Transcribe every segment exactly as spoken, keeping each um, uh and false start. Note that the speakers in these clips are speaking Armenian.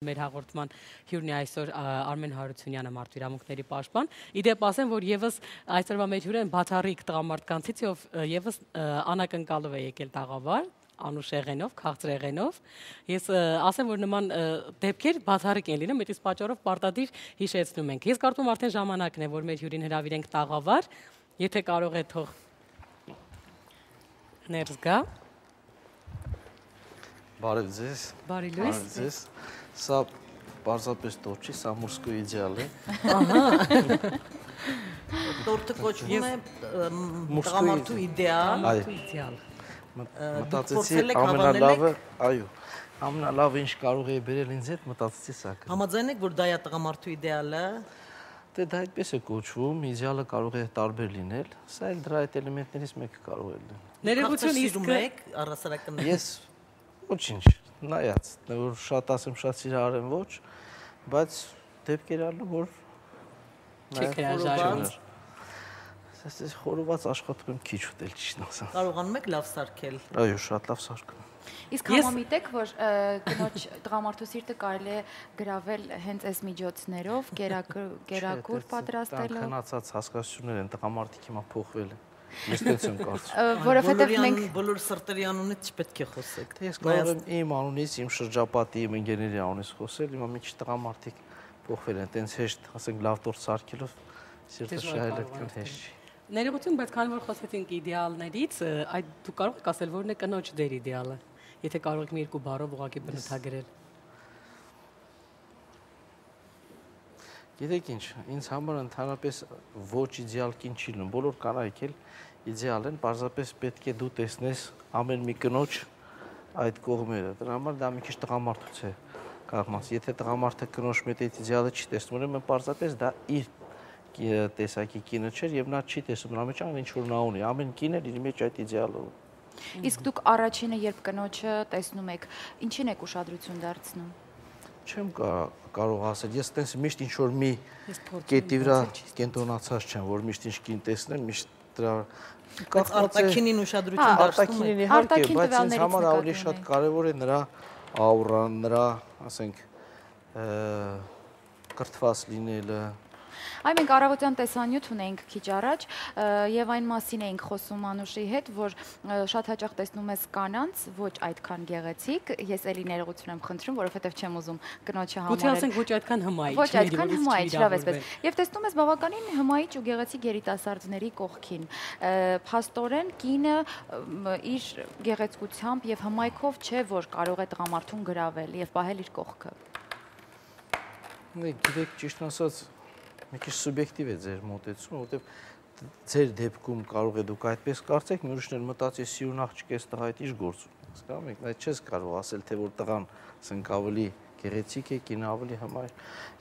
Մեր հաղորդման հյուրն է այսօր Արմեն Հարությունյանը, մարդու իրավունքների պաշտպան։ Իդեպ ասեմ, որ եւս այսօրվա մեր հյուրը բացառիկ տղամարդկանցից ով եւս անակնկալով է եկել տաղավար, անուշեղենով, քաղցրեղենով։ Ես ասեմ, որ նման դեպքեր բացառիկ են լինում, այդպես պատճառով պարտադիր հիշեցնում ենք։ Ես կարծում եմ արդեն ժամանակն է, որ մեր հյուրին հրավիրենք տաղավար, եթե կարող է թող ներս գա։ Բարև ձեզ։ Բարի լույս։ Բարև ձեզ։ Սա պարզապես տորտ չի, սա մուրսկու իդեալ է։ Տորտը կոչվում է տղամարդու իդեալ։ Իդեալ։ Մտածեցի ամենալավը, այո, ամենալավը ինչ կարող է բերել ինձ հետ, մտածեցի սա։ Համաձայն եք, որ դա է տղամարդու իդեալը։ Դե դա այդպես է կոչվում, իդեալը կարող է տարբեր լինել, սա էլ դրա այդ էլեմենտներից մեկը կարող է լինել։ Ներողություն, իսկ եք առասարակն։ Ես ոչինչ, նայած, որ շատ ասեմ, շատ սիրահարեմ ոչ, բայց դեպքեր ալու, որ չեք հրաժարվում։ Ես խորոված աշխատում եմ քիչ ուտել, ճիշտն ասած։ Կարողանում եք լավ սարքել։ Այո, շատ լավ սարքում։ Իսկ համամիտ եք, որ կնոջ տղամարդու սիրտը կարելի է գրավել հենց այս միջոցներով, կերակուր պատրաստելով։ Քնացած հասկացություններ են, տղամարդիկ հիմա փոխվել են։ Ես դից եմ կարծում։ Որովհետև մենք բոլոր սրտերի անունից չպետք է խոսեք։ Ես կարող եմ իմ անունից, իմ շրջապատի, իմ ընկերների անունից խոսել, հիմա մի քիչ տղամարդիկ փոխվել են, տենց հեշտ, ասենք լավ տորտ սարքելով սիրտը շահել այդքան հեշտ չի։ Ներողություն, բայց քանի որ խոսեցինք իդեալներից, այդ դու կարող եք ասել, որն է կնոջ դեր իդեալը, եթե կարող եք մի երկու բառով ուղղակի բնութագրել։ Գիտեք ինչ, ինձ համար ընդհանրապես ոչ իդեալ կին չի լինում, բոլոր կանայք էլ իդեալ են, պարզապես պետք է դու տեսնես ամեն մի կնոջ այդ կողմերը, դրա համար դա մի քիչ տղամարդուց է կախված, եթե տղամարդը կնոջ մեծ իդեալը չի տեսնում, ուրեմն պարզապես դա իր տեսակի կինը չէր եւ նա չի տեսնում նրա մեջ այն ինչ որ նա ունի, ամեն կին էլ իր մեջ այդ իդեալը ունի։ Իսկ դուք առաջինը երբ կնոջը տեսնում եք, ինչին եք ուշադրություն դարձնում։ Չեմ կարող ասել, ես տենց միշտ ինչ որ մի կետի վրա կենտրոնացած չեմ, որ միշտ ինչ կին տեսնեմ, միշտ դրա արտաքինին ուշադրություն դարձնում եք։ Իհարկե, բայց ինձ համար ավելի շատ կարևոր է նրա աուրան, նրա, ասենք, կրթված լինելը։ Այ մենք առավոտյան տեսանյութ ունեինք քիչ առաջ եւ այն մասին էինք խոսում Անուշի հետ, որ շատ հաճախ տեսնում ես կանանց ոչ այդքան գեղեցիկ, ես էլի ներողություն եմ խնդրում, որովհետեւ չեմ ուզում կնոջը համարել։ Գուցե ասենք ոչ այդքան հմայիչ, ոչ այդքան հմայիչ, լավ էսպես։ Եվ տեսնում ես բավականին հմայիչ ու գեղեցիկ երիտասարդների կողքին։ Փաստորեն կինը իր գեղեցկությամբ եւ հմայքով չէ, որ կարող է տղամարդուն գրավել եւ պահել իր կողքը։ Գիտեք, ճիշտ ասած մի քիչ սուբյեկտիվ է ձեր մոտեցումը, որովհետև ձեր դեպքում կարող է դուք այդպես կարծեք, մի ուրիշներ մտածի սիրուն աղջիկ էս տղա այդ ինչ գործ ունի։ Հասկանում եք, այդ չես կարող ասել, թե որ տղան ասենք ավելի գեղեցիկ է, կինը ավելի հմայիչ։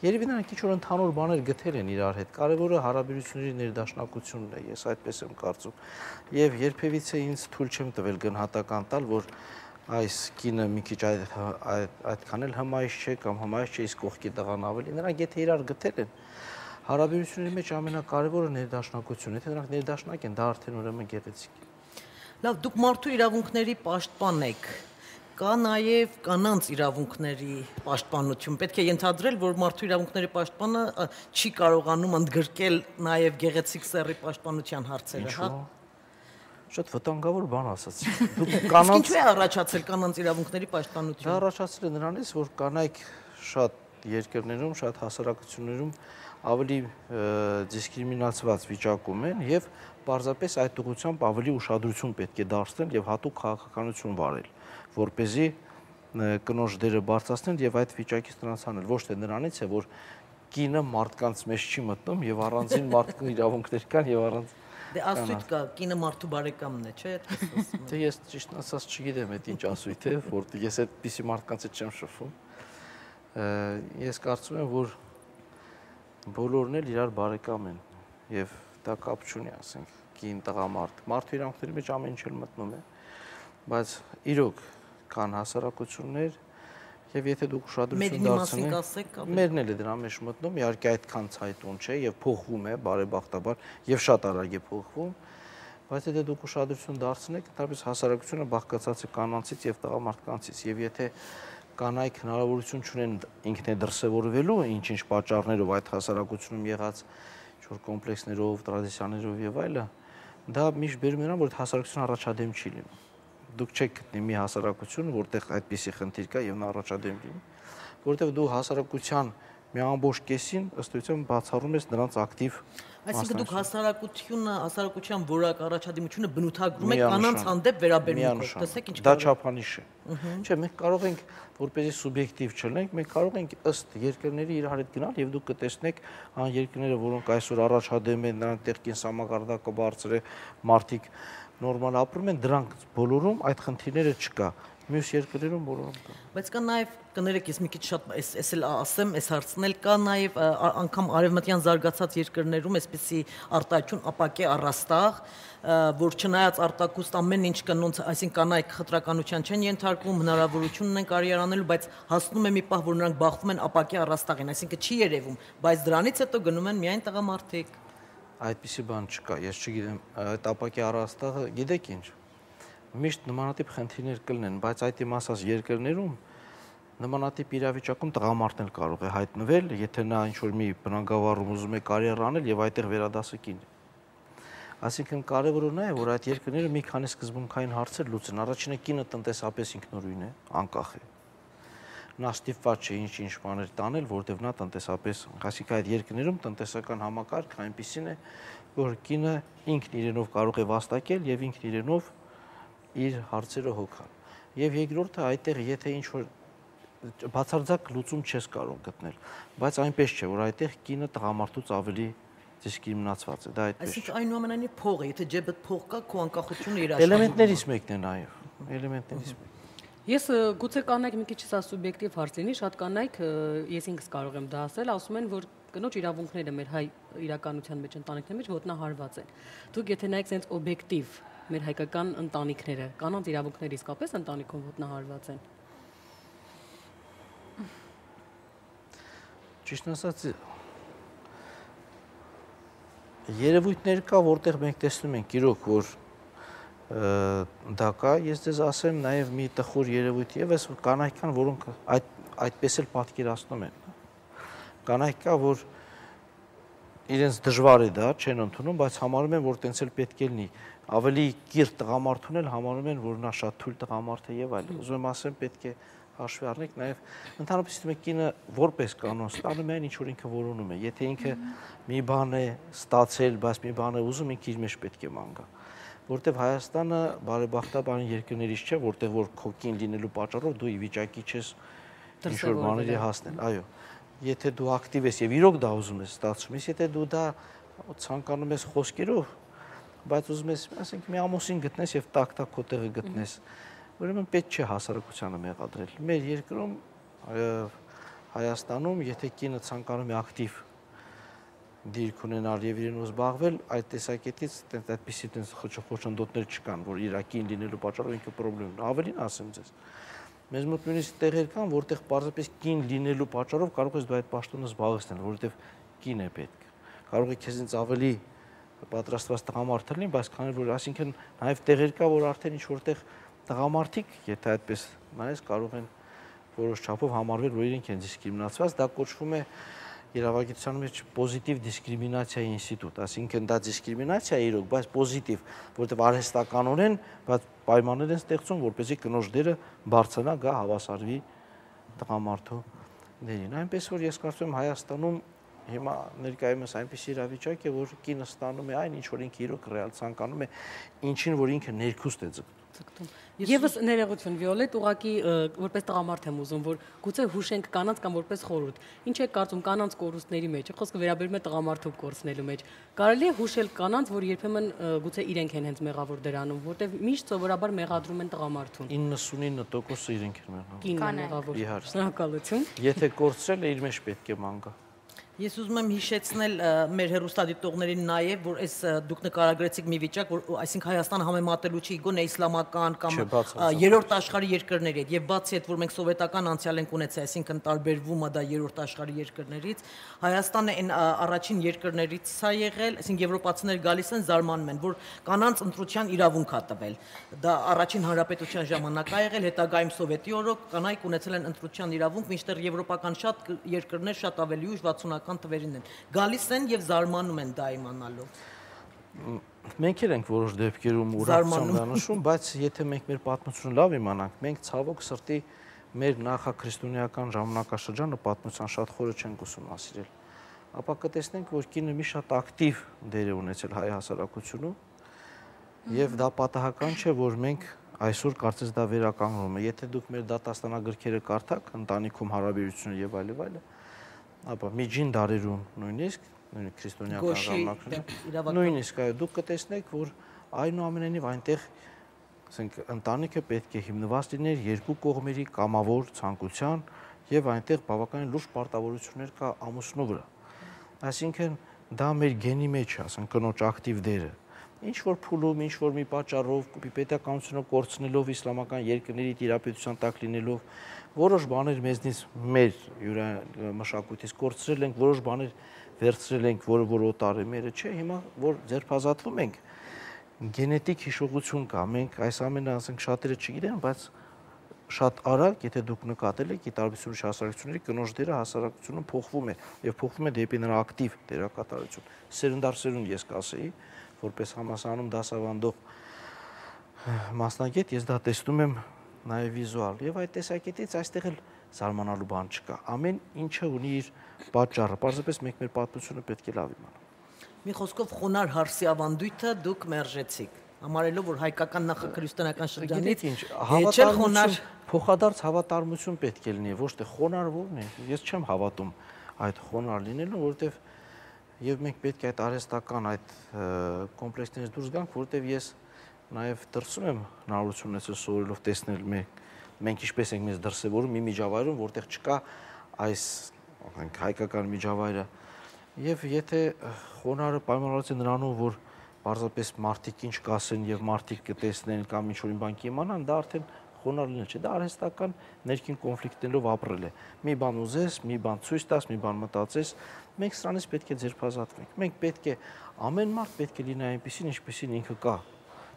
Երևի նրանք ինչ որ ընդհանուր բաներ գտել են իրար հետ։ Կարևորը հարաբերությունների ներդաշնակությունն է, ես այդպես եմ կարծում։ Եվ երբևիցե ինձ թույլ չեմ տվել գնահատական տալ, որ այս կինը մի քիչ այդքան էլ հմայիչ չէ կամ հմայիչ չէ, իսկ կողքի տղան ավելի։ Նրանք եթե իրար գտել են, հարաբերությունների մեջ ամենակարևորը ներդաշնակությունն է, եթե նրանք ներդաշնակ են, դա արդեն ուրեմն գեղեցիկ է։ Լավ, դուք մարդու իրավունքների պաշտպան եք։ Կա նաև կանանց իրավունքների պաշտպանություն։ Պետք է ենթադրել, որ մարդու իրավունքների պաշտպանը չի կարողանում ընդգրկել նաև գեղեցիկ սեռի պաշտպանության հարցերը, հա։ Շատ վտանգավոր բան ասացիք։ Դուք կանանց Ինչու է առաջացել կանանց իրավունքների պաշտպանությունը։ Դա առաջացել է նրանից, որ կանայք շատ երկրներում, շատ հասարակություններում ավելի դիսկրիմինացված վիճակում են եւ պարզապես այդ ուղղությամբ ավելի ուշադրություն պետք է դարձնել եւ հատուկ քաղաքականություն վարել, որ เป զի կնոջ դերը բարձրացնել եւ այդ վիճակից նրանց անել, ոչ թե նրանից է, որ կինը մարդկանց մեջ չի մտնում եւ առանձին մարդկային իրավունքներ կան եւ առանց Դե ասույթ կա, կինը մարդու բարեկամն է, չէ՞, այդպես ասում են։ Դե ես ճիշտ ասած չգիտեմ այդ ինչ ասույթ է, որ ես այդպիսի մարդկանց հետ չեմ շփվում։ Ես կարծում եմ, որ բոլորն էլ իրար բարեկամ են եւ դա կապ չունի, ասենք, կին տղամարդ։ Մարդու իրավունքների մեջ ամեն ինչ էլ մտնում է, բայց իրոք կան հասարակություններ եւ եթե դուք ուշադրություն դարձնեք, մերն էլ է դրա մեջ մտնում, իհարկե այդքան ցայտուն չէ եւ փոխվում է բարեբախտաբար եւ շատ արագ է փոխվում, բայց եթե դուք ուշադրություն դարձնեք, ընդհանրապես հասարակությունը բաղկացած է կանանցից եւ տղամարդկանցից եւ եթե կանայք հնարավորություն չունեն ինքն է դրսևորվելու ինչ-ինչ պատճառներով այդ հասարակությունում եղած ինչ-որ կոմպլեքսներով, տրադիցիաներով եւ այլը, դա միշտ բերում նրան, որ հասարակությունը առաջադեմ չի լինում։ Դուք չեք գտնի մի հասարակություն, որտեղ այդպիսի խնդիր կա եւ նա առաջադեմ լինի, որտեղ դու հասարակության մի ամբողջ կեսին ըստ էության բացառում ես նրանց ակտիվ Այսինքն դուք հասարակությունը, հասարակության որակ առաջադիմությունը բնութագրում եք կանանց հանդեպ վերաբերմունքով։ Տեսեք ինչ դա չափանիշ է։ Չէ, մենք կարող ենք որպեսզի սուբյեկտիվ չլինենք, մենք կարող ենք ըստ երկրների իրար հետ գնալ եւ դուք կտեսնեք այն երկրները, որոնք այսօր առաջադեմ են, նրանք տեղ կենսամակարդակը բարձր է, մարդիկ նորմալ ապրում են, դրանք բոլորում այդ խնդիրները չկա։ Մյուս երկրներում բոլորում կա։ Բայց կա նաև կներեք, ես մի քիչ շատ էս էս էլ ասեմ, էս հարցն էլ կա նաև անգամ արևմտյան զարգացած երկրներում այսպեսի արտահայտություն ապակե առաստաղ, որ չնայած արտակուստ ամեն ինչ կնոնց, այսինքն կանայք խտրականության չեն ենթարկվում, հնարավորություն ունեն կարիեր անելու, բայց հասնում է մի պահ, որ նրանք բախվում են ապակե առաստաղին, այսինքն չի երևում, բայց դրանից հետո գնում են միայն տղամարդիկ։ Այդպիսի բան չկա, ես չգիտեմ, այդ ապակե առաստաղը գիտեք ինչ։ Միշտ նմանատիպ խնդիրներ կլինեն, բայց այդ իմ ասած երկրներում նմանատիպ իրավիճակում տղամարդն էլ կարող է հայտնվել, եթե նա ինչ-որ մի բնագավառում ուզում է կարիեր անել եւ այդտեղ վերադասը կին։ Այսինքն կարևորը նա է, որ այդ երկրները մի քանի սկզբունքային հարցեր լուծեն։ Առաջինը կինը տնտեսապես ինքնուրույն է, անկախ է։ Նա ստիպված չէ ինչ-ինչ բաներ տանել, որտեղ նա տնտեսապես, այսինքն այդ երկրներում տնտեսական համակարգը այնպիսին է, որ կինը ինքն իրենով կարող է վաստակել եւ ինքն իրենով իր հարցերը հոգալ։ Եվ երկրորդը այդտեղ եթե ինչ-որ բացարձակ լուծում չես կարող գտնել, բայց այնպես չէ, որ այդտեղ կինը տղամարդուց ավելի դիսկրիմինացված է, դա այդպես։ Այսինքն այնուամենայնիվ փող է, եթե ջեբդ փող կա, քո անկախությունը իր էլեմենտներից մեկն է նաեւ, էլեմենտներից մեկն։ Ես գուցե կանայք մի քիչ սա սուբյեկտիվ հարց լինի, շատ կանայք ես ինքս կարող եմ դա ասել, ասում են, որ կնոջ իրավունքները մեր հայ իրականության մեջ, ընտանիքների մեջ ոտնահարված են։ Դուք եթե նայեք sense օբյեկտիվ մեր հայկական ընտանիքները, կանանց իրավունքները իսկապես ընտանիքում ոտնահարված են։ Ճիշտ ասած, երևույթներ կա, որտեղ մենք տեսնում ենք իրոք, որ դա կա, ես ձեզ ասեմ նաև մի տխուր երևույթ եւս կանայք կան, որոնք այդ այդպես էլ պատկերացնում են։ Կանայք կա, որ իրենց դժվար է դա, չեն ընդունում, բայց համարում են, որ տենց էլ պետք է լինի։ Ավելի կիրթ տղամարդուն էլ համարում են, որ նա շատ թույլ տղամարդ է եւ այլն։ Ուզում եմ ասեմ, պետք է հաշվի առնենք նաև ընդհանրապես իստում է կինը որպես կանոն ստանում է այն ինչ որ ինքը որոնում է։ Եթե ինքը մի բան է ստացել, բայց մի բան է ուզում, ինքը իր մեջ պետք է ման գա։ Որտեվ Հայաստանը բարեբախտաբար երկրներից չէ, որտեղ որ քո կին լինելու պատճառով դու ի վիճակի չես ինչ-որ բաների հասնել, այո։ Եթե դու ակտիվ ես եւ իրոք դա ուզում ես ստացում ես, եթե դու դա ցանկանում ես խոսքերով, բայց ուզում ես, ասենք, մի ամուսին գտնես եւ տակ-տակ քո տեղը գտնես, ուրեմն պետք չէ հասարակությանը մեղադրել։ Մեր երկրում Հայաստանում, եթե կինը ցանկանում է ակտիվ դիրք ունենալ եւ իրենով զբաղվել, այդ տեսակետից այդպիսի տես խոչընդոտներ չկան, որ իր կին լինելու պատճառով ինքը խնդրեմ ունի։ Ավելին ասեմ ձեզ, մեզ մոտ նույնիսկ տեղեր կան, որտեղ պարզապես կին լինելու պատճառով կարող ես դու այդ պաշտոնը զբաղեցնել, որովհետեւ կին է պետք։ Կարող է քեզից ավելի պատրաստված տղամարդ լինի, բայց քանի որ այսինքն նաեւ տեղեր կա, որ արդեն ինչ որտեղ տղամարդիկ, եթե այդպես նայես, կարող են որոշ չափով համարվել, որ իրենք են դիսկրիմինացված, դա կոչվում է իրավագիտության մեջ պոզիտիվ դիսկրիմինացիայի ինստիտուտ, այսինքն դա դիսկրիմինացիա է իրոք, բայց պոզիտիվ, որովհետև արհեստականորեն, բայց պայմաններ են ստեղծում, որպեսզի կնոջ դերը բարձրանա, գա հավասարվի տղամարդու դերին։ Այնպես որ ես կարծում եմ Հայաստանում հիմա ներկայումս այնպես իրավիճակ է, որ կինը ստանում է այն, ինչ որ ինքը իրոք ռեալ ցանկանում է, ինչին որ ինքը ներքուստ է ձգտում։ Եվս ներողություն Վիոլետ, ուղղակի որպես տղամարդ եմ ուզում, որ գուցե հուշենք կանանց կամ որպես խորհուրդ։ Ինչ է կարծում կանանց կորուստների մեջ, խոսքը վերաբերում է տղամարդու կորուստնելու մեջ։ Կարելի է հուշել կանանց, որ երբեմն գուցե իրենք են հենց մեղավոր դրանում, որտեղ միշտ սովորաբար մեղադրում են տղամարդուն։ իննսունինը տոկոսը իրենք են մեղավոր։ Կինն է մեղավոր։ Իհարկե։ Շնորհակալություն։ Եթե կորցրել է, իր մեջ պետք է ման գա։ Ես ուզում եմ հիշեցնել մեր հեռուստադիտողներին նաև, որ այս դուք նկարագրեցիք մի վիճակ, որ այսինքն Հայաստանը համեմատելու չի գոնե իսլամական կամ երրորդ աշխարհի երկրների հետ, եւ բացի այդ, որ մենք սովետական անցյալ ենք ունեցել, այսինքն տարբերվում է դա երրորդ աշխարհի երկրներից, Հայաստանը այն առաջին երկրներից է եղել, այսինքն եվրոպացիներ գալիս են զարմանում են, որ կանանց ընտրության իրավունք է տվել։ Դա առաջին հանրապետության ժամանակ է եղել, հետագայում սովետի օրոք կանայք ունեցել են ընտրության իրավունք, մինչդեռ եվրոպական շատ երկրներ շատ ավելի ուշ վաթսունական թվերին են գալիս են եւ զարմանում են դա իմանալով։ Մենք էլ ենք որոշ դեպքերում ուրախություն դանշում, բայց եթե մենք մեր պատմությունը լավ իմանանք, մենք ցավոք սրտի մեր նախաքրիստոնեական ժամանակաշրջանը պատմության շատ խորը չենք ուսումնասիրել։ Ապա կտեսնենք, որ կինը մի շատ ակտիվ դեր է ունեցել հայ հասարակությունում, եւ դա պատահական չէ, որ մենք այսօր կարծես դա վերականգնում է։ Եթե դուք մեր դատաստանագրքերը կարդաք, ընտանիքում հարաբերությունը եւ այլ եւ այլը, ապա միջին դարերում նույնիսկ նույնիսկ քրիստոնեական ժամանակներում նույնիսկ այո դուք կտեսնեք, որ այնուամենայնիվ այնտեղ ասենք ընտանիքը պետք է հիմնված լիներ երկու կողմերի կամավոր ցանկության եւ այնտեղ բավականին լուրջ պարտավորություններ կա ամուսնու վրա։ Այսինքն դա մեր գենի մեջ է, ասենք կնոջ ակտիվ դերը։ Ինչ որ փուլում, ինչ որ մի պատճառով, պետականությունը կորցնելով, իսլամական երկրների տիրապետության տակ լինելով, որոշ բաներ մեզնից մեր մշակույթից կորցրել ենք, որոշ բաներ վերցրել ենք, որը որ օտար է մերը, չէ, հիմա որ ձերբազատվում ենք, գենետիկ հիշողություն կա, մենք այս ամենը ասենք շատերը չգիտեն, բայց շատ արագ, եթե դուք նկատել եք, ի տարբերություն հասարակությունների կնոջ դերը հասարակությունում փոխվում է եւ փոխվում է դեպի նրա ակտիվ դերակատարություն։ Սերնդար սերունդ ես կասեի, որպես համասարանում դասավանդող մասնագետ ես դա տեսնում եմ նաև վիզուալ եւ այդ տեսակետից այստեղ էլ զարմանալու բան չկա։ Ամեն ինչը ունի իր պատճառը, պարզապես մենք մեր պատմությունը պետք է լավ իմանանք։ Մի խոսքով խոնար հարսի ավանդույթը դուք մերժեցիք, համարելով որ հայկական նախաքրիստոնեական շրջանից հավատարմություն, փոխադարձ հավատարմություն պետք է լինի, ոչ թե խոնար որն է։ Ես չեմ հավատում այդ խոնար լինելուն, որովհետեւ եւ մենք պետք է այդ արհեստական այդ կոմպլեքսներից դուրս գանք, որովհետեւ ես նաեւ դրսում եմ հնարավորություն ունեցել սովորելով տեսնել մենք մենք ինչպես ենք մեզ դրսևորում մի միջավայրում, որտեղ չկա այս հայկական միջավայրը։ Եվ եթե խոնարհը պայմանավորված է նրանով, որ պարզապես մարդիկ ինչ կասեն եւ մարդիկ կտեսնեն կամ ինչ-որ բան կիմանան, դա արդեն խոնարհ լինել չէ, դա արհեստական ներքին կոնֆլիկտներով ապրել է։ Մի բան ուզես, մի բան ցույց տաս, մի բան մտածես, մենք սրանից պետք է ձերբազատվենք։ Մենք պետք է ամեն մարդ պետք է լինի այնպեսին, ինչպեսին ինքը կա։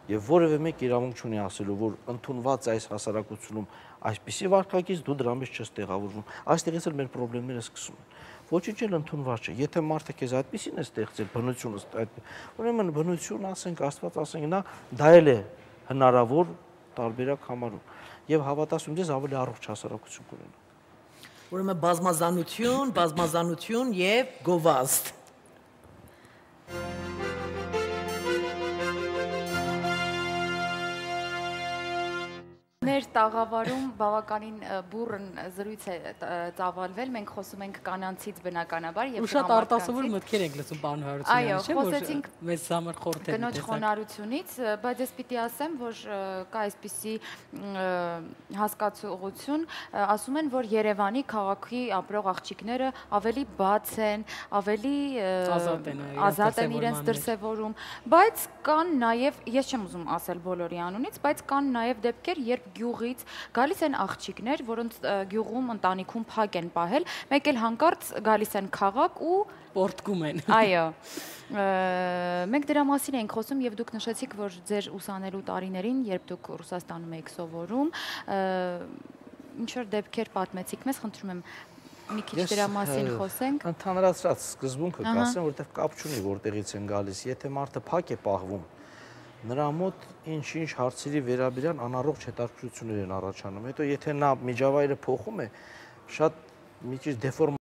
Եվ որևէ մեկ իրավունք չունի ասելու, որ ընդունված այս հասարակությունում այսպիսի վարքագիծ դու դրա մեջ չես տեղավորվում։ Այստեղից էլ մեր խնդիրները սկսում են։ Ոչինչ էլ ընդունված չէ։ Եթե մարդը քեզ այդպեսին է ստեղծել բնությունը, այդ ուրեմն բնություն ասենք, Աստված ասենք, նա դա էլ է հնարավոր տարբերակ համարում։ Եվ հավատացում ես ավելի առողջ հասարակություն կունենա։ Ուրեմն բազմազանություն, բազմազանություն եւ գովազդ։ Մեր տաղավարում բավականին բուրըն զրույց է ծավալվել, մենք խոսում ենք կանանցից բնականաբար եւ շատ արտասովոր մտքեր ենք լսում պարոն Հարությունյանի, չէ՞ որ մեզ համար խորհուրդ է կնոջ խոնարհությունից, բայց ես պիտի ասեմ, որ կա այսպիսի հասկացողություն, ասում են, որ Երևանի քաղաքի ապրող աղջիկները ավելի բաց են, ավելի ազատ են իրենց դրսևորում, բայց կան նաեւ, ես չեմ ուզում ասել բոլորի անունից, բայց կան նաեւ դեպքեր, երբ գյուղից գալիս են աղջիկներ, որոնց գյուղում ընտանիքում փակ են պահել, մեկ էլ հանկարծ գալիս են քաղաք ու պորտկում են։ Այո։ Մենք դրա մասին ենք խոսում եւ դուք նշեցիք, որ ձեր ուսանելու տարիներին, երբ դուք Ռուսաստանում եք սովորում, ինչ որ դեպքեր պատմեցիք մեզ, խնդրում եմ մի քիչ դրա մասին խոսենք։ Ընդհանրացրած սկզբունքը կասեմ, որտեղ կապ չունի որտեղից են գալիս, եթե մարդը փակ է պահվում, նրա մոտ ինչ-ինչ հարցերի վերաբերյալ անառողջ հետաքրքրություններ են առաջանում։ Հետո եթե նա միջավայրը փոխում է, շատ մի քիչ դեֆորմ